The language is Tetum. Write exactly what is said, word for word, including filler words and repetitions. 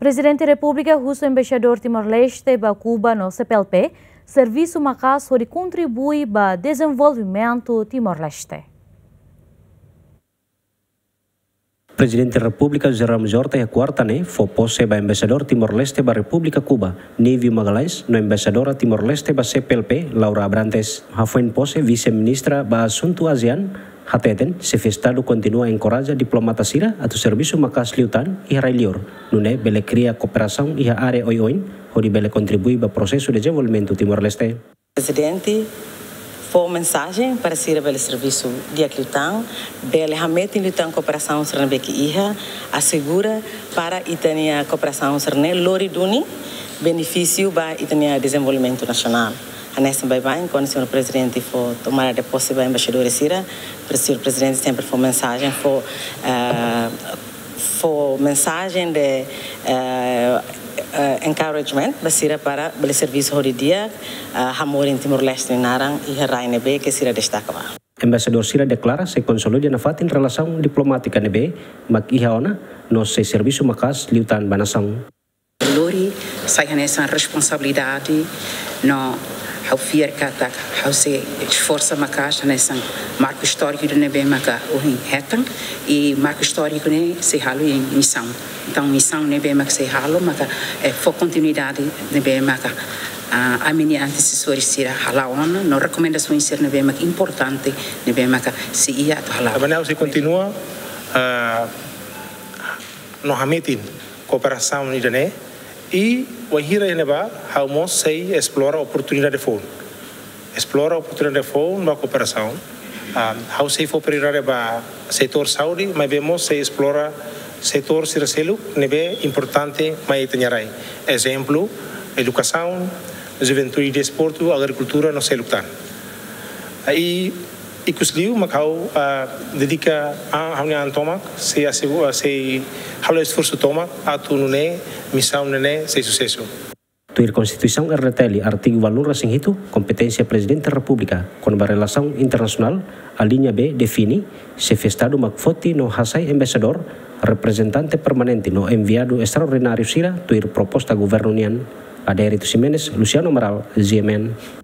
Prezidente Repúblika husu Embaixadór Timor-Leste ba Kuba no C P L P servisu maka'as hodi kontribui ba dezenvolvimentu Timor-Leste. Prezidente Repúblika José Ramos Horta iha kuarta ne'e fó pose ba Embaixadór Timor-Leste ba Repúblika Kuba, Nívio Magalhães, no Embaixadora Timor-Leste ba C P L P, Laura Abrantes. Hafoin pose, Vise-Ministra ba Asuntu ASEAN hateten, Xefe Estadu kontinua enkoraja diplomata sira atu servisu maka'as liután iha rai-liur, nune'e bele kria kooperasaun iha área oioin, hodi bele kontribui ba prosesu dezenvolvimentu Timor-Leste. Prezidente fó mensajen para sira bele servisu di'ak liután, bele hametin liután kooperasaun sira ne'ebé ke iha, asegura para ita-nia kooperasaun sira-ne'e lori duni benefísiu ba ita-nia dezenvolvimentu nasionál. Hanesan baibain, kuandu señór Prezidente fó tomada de pose ba embaixadór sira, pre-, señór Prezidente sempre fó mensajen, fó, eh, fó mensajen de, eh, eh, encouragement ba sira para bele servisu hodi di'ak, eh, hamoris Timor-Leste nia naran iha rai ne'ebé ke sira destaka ba. Embaixadór sira deklara sei konsolida nafatin relasaun diplomátika ne'ebé mak iha ona, no sei servisu maka'as liután ba nasaun. Lori sai hanesan responsabilidade, no ha'u fiar katak ha'u sei esforsa maka'as hanesan marku istóriku ida ne'ebé maka ohin hetan, i marku istóriku ne'e sei halo iha misaun. Entaun, misaun ne'ebé maka sei halo maka, eh, fó kontinuidade ne'ebé maka, ah, ami-nia antesesór sira hala'o ona, no rekomendasaun sira ne'ebé maka importante, ne'ebé maka sei iha atu hala'o. Maneira ha'u sei kontinua, ah, no hametin kooperasaun ida-ne'e, i wainhira iha ne'ebá, ha'u mós sei esplora oportunidade foun. Esplora oportunidade foun ba kooperasaun. Ah, ha'u sei fó prioridade ba setór saúde, maibé mós sei esplora setór sira seluk ne'ebé importante mai ita-nia rai. Ezemplu, edukasaun, juventude, desportu, agrikultura, no seluk tan. I ikusliu mak ha'u, ah, dedika an, ha'u-nia an tomak, sei asegu-, ah, sei halo esforsu tomak atu nune'e misaun ne'e sei susesu. Tuir Konstituisaun R D T L, artigu ualunulu resin hitu, kompeténsia Prezidente Repúblika kona-ba relasaun internasionál, aliña B, define, Xefe Estadu mak foti no hasai embaixadór, reprezentante permanente no enviadu estraordináriu sira tuir proposta governu nian. Adérito Ximenes, Luciano Amaral, G M N.